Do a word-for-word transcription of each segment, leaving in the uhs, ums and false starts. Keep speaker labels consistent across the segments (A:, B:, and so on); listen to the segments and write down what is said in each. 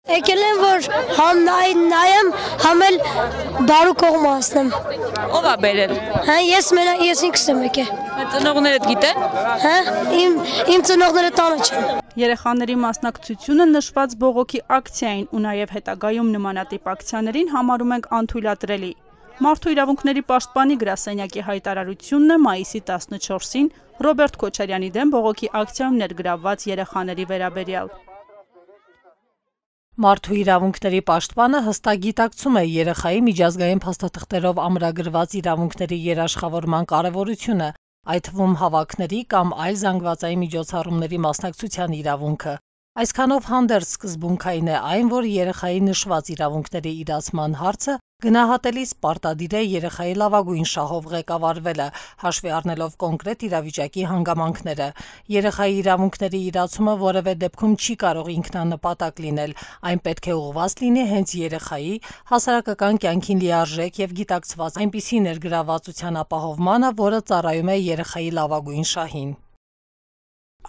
A: Եկել եմ, որ համ նայեմ, համ էլ դարու կողմը հասնեմ։
B: Ով է բերել։
A: Հա, ես մենակ ես ինքս եմ եկել։
B: Ծնողներդ գիտեն։
A: Հա, իմ իմ ծնողները տանը չեն։
C: Երեխաների մասնակցությունը նշված բողոքի ակցիային ու նաև հետագայում նմանատիպ ակցիաներին համարում ենք անթույլատրելի։ Մարդու իրավունքների պաշտպանի գրասենյակի հայտարարությունն է մայիսի տասնչորսին Ռոբերտ Քոչարյանի դեմ բողոքի ակցիայում ներգրավված երեխաների վերաբերյալ։
D: Մարդու իրավունքների պաշտպանը հստակ գիտակցում է երեխայի միջազգային փաստաթղթերով ամրագրված իրավունքների երաշխավորման կարևորությունը, այդ թվում հավաքների կամ այլ զանգվածային միջոցառումների մասնակցության իրավունքը։ Այսքանով հանդերձ սկզբունքային է այն, որ երեխայի նշված իրավունքների իրացման հարցը գնահատելիս պարտադիր է երեխայի լավագույն շահով ղեկավարվելը, հաշվի առնելով կոնկրետ իրավիճակի հանգամանքները։ Երեխայի իրավունքների իրացումը որևէ դեպքում չի կարող ինքնանպատակ լինել, այն պետք է ուղղված լինի հենց երեխայի հասարակական կյանքին լիարժեք եւ գիտակցված այնպիսի ներգրավվածության ապահովմանը, որը ծառայում է երեխայի լավագույն շահին։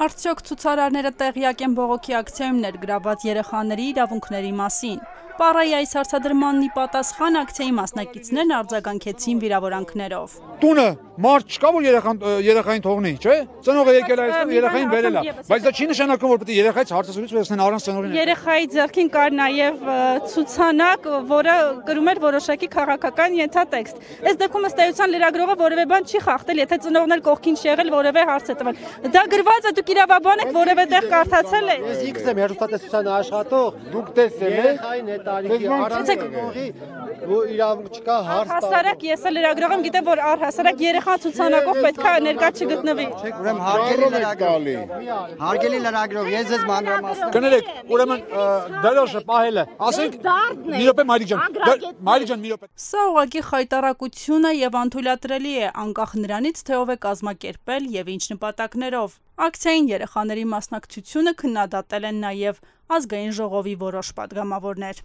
C: Արդյոք ցուցարարները տեղյակ են բողոքի ակցիայում ներգրավված երեխաների իրավունքների մասին։ Պարայի այս հարցադրմանն ի պատասխան ակցիայի մասնակիցներն արձագանքեցին վիրավորանքներով։
E: Տունը մարդ չկա, որ երեխային թողնի, չէ՞։ Ծնողը եկել է այստեղ, երեխային բերել է, բայց դա չի նշանակում, որ պետք է երեխայից հարցազրույց վերցնեն առանց ծնողին։
C: Երեխայի ձեռքին կար նաև ցուցանակ, որը կրում էր որոշակի քաղաքական ենթատեքստ։ Այս դեպքում ըստ էության լրագրողը որևէ բան չի խախտել, եթե ծնողն էլ կողքին չի եղել, որևէ հարց է տվել։ Դա գրված է, դուք իրավաբան եք, որևէ տեղ կարդացել եք։
F: Ես ինքս եմ հերոստատեսության աշխատող, դուք տեսել եք տարիքի առանցքի իրավունք չկա հարց տալ։
C: Հասարակ ես էլ լրագրող եմ, գիտեմ, որ առհասարակ երեխան ցուցանակով պետք է ներկա չգտնվի։
F: Ուրեմն հարգելի լրագրող, հարգելի լրագրող, ես ձեզ մանրամասն
E: կներեք, ուրեմն դրոշը պահելը, ասենք մի րոպե Մայրիկ ջան, Մայրիկ ջան, մի րոպե։
C: Սա ուղղակի խայտարակություն է եւ անթույլատրելի է, անկախ նրանից, թե ով է կազմակերպել եւ ինչ նպատակներով։ Ակցիային երեխաների մասնակցությունը քննադատել են նաեւ ազգային ժողովի որոշ պատգամավորներ։